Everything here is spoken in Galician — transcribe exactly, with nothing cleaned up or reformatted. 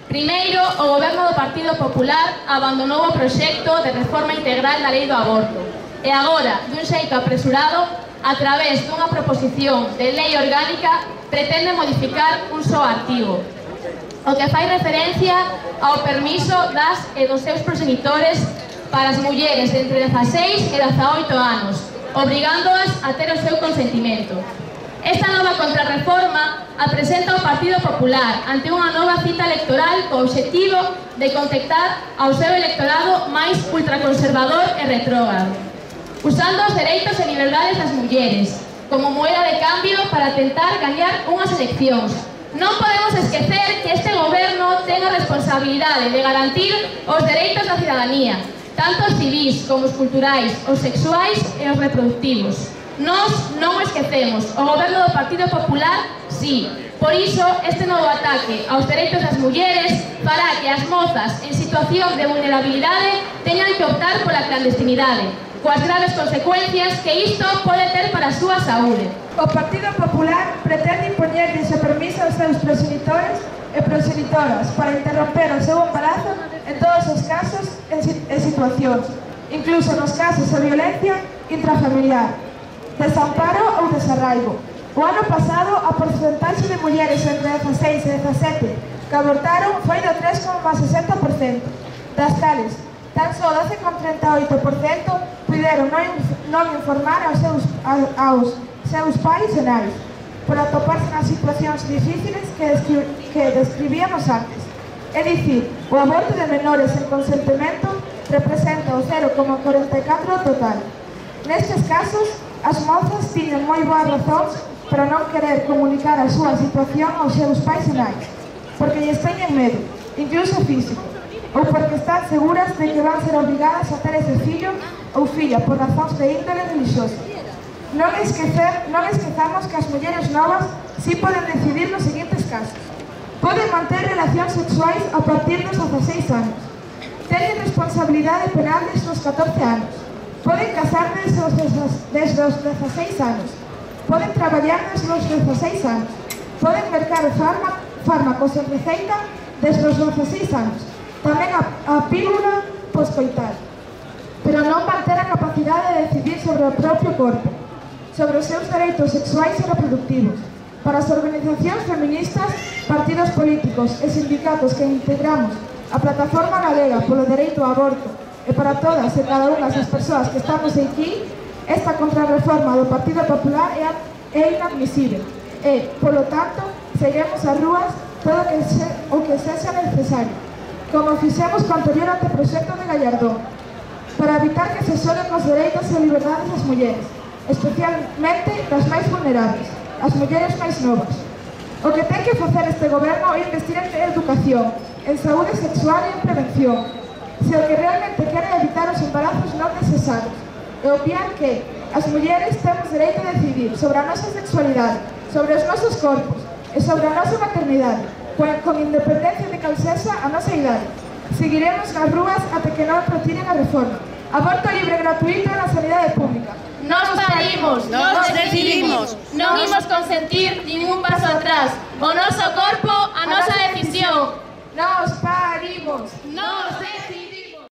Primeiro, o Goberno do Partido Popular abandonou o proxecto de reforma integral da lei do aborto e agora, dun xeito apresurado, a través dunha proposición de lei orgánica, pretende modificar un só artigo, o que fai referencia ao permiso das e dos seus progenitores para as mulleres de entre dezaseis e dezaoito anos, obrigándoas a ter o seu consentimento. Esta nova contrarreforma a presenta o Partido Popular ante unha nova cita electoral co obxectivo de contactar ao seu electorado máis ultraconservador e retrógrado, usando os dereitos e liberdades das mulleres como moeda de cambio para tentar gañar unhas eleccións. Non podemos esquecer que este goberno ten a responsabilidade de garantir os dereitos da cidadanía, tanto os civís como os culturais, os sexuais e os reproductivos. Nós non o esquecemos, o goberno do Partido Popular sí. Por iso, este novo ataque aos dereitos das mulleres fará que as mozas en situación de vulnerabilidade teñan que optar pola clandestinidade, coas graves consecuencias que isto pode ter para a súa saúde. O Partido Popular pretende impoñer ese permiso aos seus proxenitores e proxenitoras para interromper o seu embarazo en todos os casos e situacións, incluso nos casos de violencia intrafamiliar, desamparo ou desarraigo. O ano pasado, a porcentaxe de mulleres entre dezaseis e dezasete que abortaron foi do tres coma sesenta por cento. Das tales, tan só doce coma trinta e oito por cento puderon non informar aos seus, aos seus pais e nais, por atoparse nas situacións difíciles que, descri que describíamos antes. É dicir, o aborto de menores en consentimento representa o cero coma cuarenta e catro total. Nestes casos, as mozas tiñen moi boas razóns para non querer comunicar a súa situación aos seus pais e nais, porque lles teñen medo, incluso físico, ou porque están seguras de que van ser obrigadas a ter ese fillo ou filla por razóns de índole religiosa. Non, esquecer, non esquezamos que as mulleres novas sí poden decidir nos seguintes casos. Poden manter relacións sexuais a partir dos dezaseis anos. Teñen responsabilidade penal desde os catorce anos. Poden casar desde os, desde os dezaseis anos. Poden traballar desde os dezaseis anos. Poden mercar fármacos en receita desde os dezaseis anos. Tamén a, a pílula poscoital. Pero non van ter a capacidade de decidir sobre o propio corpo, sobre os seus dereitos sexuais e reproductivos. Para as organizacións feministas, partidos políticos e sindicatos que integramos a Plataforma Galega polo Dereito ao Aborto e para todas e cada unha das persoas que estamos aquí, esta contrarreforma do Partido Popular é, é inadmisible e, polo tanto, seguiremos as rúas todo que se, o que sexa necesario, como fixemos co anterior anteproxecto de Gallardón, para evitar que se xolen os dereitos e liberdades das mulleres, especialmente das máis vulnerables, as mulleres máis novas. O que ten que facer este goberno é investir en educación, en saúde sexual e en prevención, se o que realmente quere evitar os embarazos non necesarios, e obviar que as mulleres temos dereito a decidir sobre a nosa sexualidade, sobre os nosos corpos e sobre a nosa maternidade, con independencia de cal sexa a nosa idade. Seguiremos nas rúas até que non retiren a reforma. Aborto libre e gratuito na sanidade pública. Nos parimos, nos decidimos, non imos consentir ningún paso atrás. O noso corpo, a nosa decisión. Nos parimos, nos decidimos.